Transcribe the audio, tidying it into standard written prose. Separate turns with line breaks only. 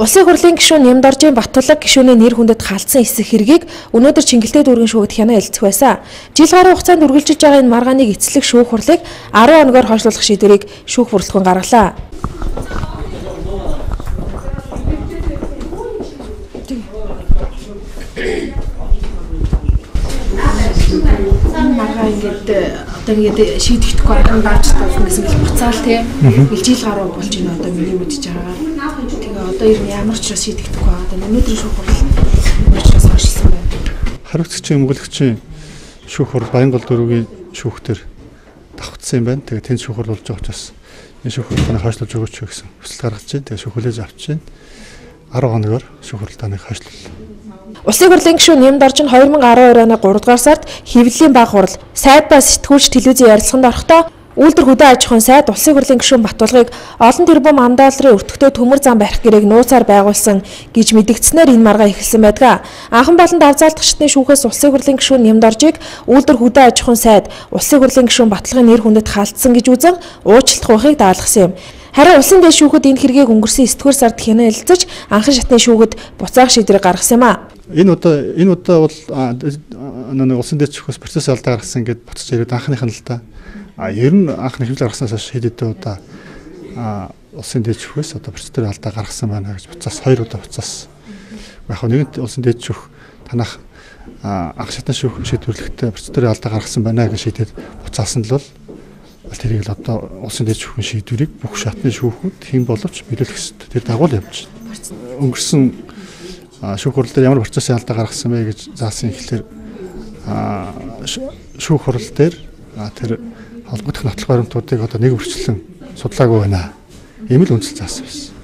Улсын хурлын гишүүн Нямдоржийн Баттулаг гишүүний нэр хүндэд халдсан эсэх хэргийг өнөөдөр Чингэлтэй дүүргийн шүүхэд хянаа хэлцэх байсан. Жил гаруй хугацаанд үргэлжилж байгаа энэ маргааныг эцэслэх шүүх хурлыг 10 хоногоор хойшлуулах шийдвэрийг шүүх бүрэлдэхүүн гаргалаа. Маргаа ингээд шийдэхдэггүй арга дааж тавсан гэсэн л буцаал тийм. Жил гаруй болж байна одоо миний мэдж байгаа. Тэгээ одоо ямар ч учраас шийдэхдэггүй байгаа. Одоо өнөөдөр шүүх хурал учраас хойшлсон байна.
Хариуцагчийн өмгөөлөгчийн шүүх хурал Баянгол дөрвийн шүүхтэр давхцсан юм байна. Тэгээ тэнд шүүх хурал болж байгаа учраас энэ шүүх хуралыг хойшлуулж өгөөч гэсэн хүсэл гаргаж байна. Тэгээ шүүх хүлээж авч байна. 10 хоногор шүүх хуралдааныг хойшлууллаа.
Улсын хурлын гишүүн Нямдорж нь 2012 оны 3 дугаар сард хэвлэлийн баг хурал сайд ба сэтгүүлч телевизийн ярилцлаганд орохдоо үйлдвэр хөдөө аж ахуйн сайд улсын хурлын гишүүн Баттулгыг олон тэрбум ам-долларын өртөгтэй төмөр зам барих гэрээг нууцаар байгуулсан гэж мэдгдснээр энэ маргаа эхэлсэн байдаг. Анхан болонд авзаалдах шатны шүүхээс улсын хурлын гишүүн Нямдоржийг үйлдвэр хөдөө аж ахуйн сайд улсын хурлын гишүүн Баттулгын нэр хүндэд халдсан гэж үзэн уучлалт гуйхыг даалгасан юм. Харин улсын дэд шүүхэд энэ хэргийг өнгөрсөн 9-р сард хянаа хэлэлцэж анхан шатны шүүхэд буцаах шийдвэрийг гаргасан юм а.
Энэ удаа бол улсын дэд шүүхээс процесс алдаа гаргасан гэдээ буцаж ирээд анхных нь л да. Ер нь анхны хэвлэл гаргаснаас хойш хэд хэдэн удаа улсын дэд шүүхээс одоо процедурын алдаа гаргасан байна гэж буцаас 2 удаа буцаас. Яг нэгэнт улсын дэд шүүх танах анх шатны шүүх шийдвэрлэхдээ процедурын алдаа гаргасан байна гэж шийдээд буцаасан л бол тэрийг л одоо улсын дэд шүүхийн шийдвэрийг бүх шатны шүүхүүд хэн боловч биелүүлэх ёстой. Тэр дагуу л явж байна. Өнгөрсөн шүүх хурал дээр ямар процессын алдаа гаргасан бэ гэж заасан ихлээр шүүх хурал дээр тэр холбогдох нотлох баримтуудыг одоо нэг үрчлэн судлаагүй байна. Ийм л үндэслэл заасан байсан.